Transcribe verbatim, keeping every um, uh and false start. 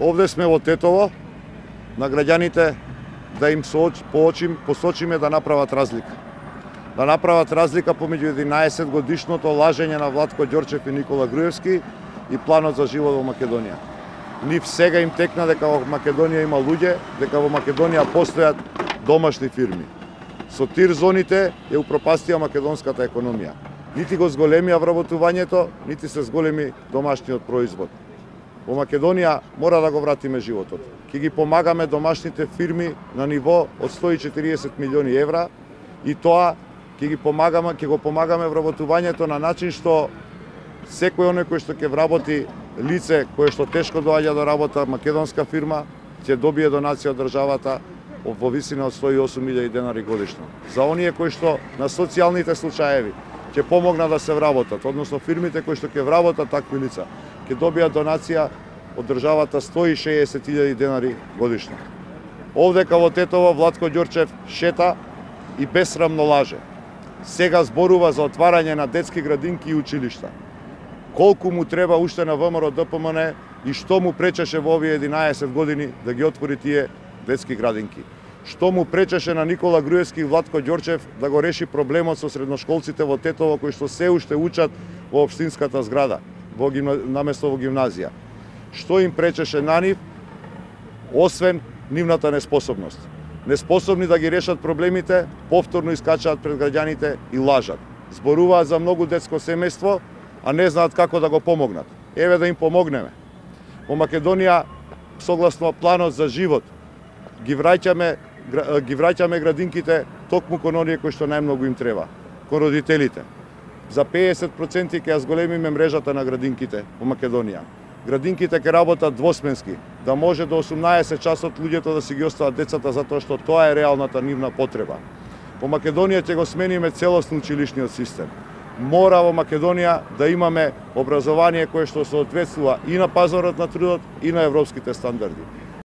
Овде сме во Тетово, на граѓаните да им поочим, посочиме да направат разлика. Да направат разлика помеѓу единаесет годишното лажење на Владко Ѓорчев и Никола Груевски и планот за живот во Македонија. Нив сега им текна дека во Македонија има луѓе, дека во Македонија постојат домашни фирми. Со тир зоните ја упропастија македонската економија. Нити го зголемија вработувањето, нити се зголеми домашниот производ. Во Македонија мора да го вратиме животот. Ќе ги помагаме домашните фирми на ниво од сто и четириесет милиони евра и тоа ќе ги помагаме, ќе го помагаме вработувањето на начин што секој оној кој што ќе вработи лице кое што тешко доаѓа до работа, македонска фирма, ќе добие донација од државата во висина од сто и осум илјади денари годишно. За оние кои што на социјалните случаеви ќе помогнат да се вработат, односно фирмите кои што ќе вработат такви лица, ќе добијат донација од државата сто и шеесет илјади денари годишно. Овдека во Тетово Владко Ѓорчев шета и бесрамно лаже. Сега зборува за отварање на детски градинки и училишта. Колку му треба уште на ВМРО Д П М Н и што му пречеше во овие единаесет години да ги отвори тие детски градинки? Што му пречеше на Никола Груевски и Владко Ѓорчев да го реши проблемот со средношколците во Тетово кои што се уште учат во општинската зграда, во гимна... наместо во гимназија? Што им пречеше на нив, освен нивната неспособност? Неспособни да ги решат проблемите, повторно искачаат пред граѓаните и лажат. Зборуваат за многу детско семејство, а не знаат како да го помогнат. Еве да им помогнеме. Во Македонија, согласно планот за живот, ги враќаме ги враќаме градинките токму кон оние кои што најмногу им треба, кон родителите. За педесет проценти ќе ја зголемиме мрежата на градинките во Македонија. Градинките ќе работат двосменски, да може до осумнаесет часот луѓето да си ги остават децата затоа што тоа е реалната нивна потреба. Во Македонија ќе го смениме целосно училишниот систем. Мора во Македонија да имаме образование кое што соодветствува и на пазарот на трудот и на европските стандарди.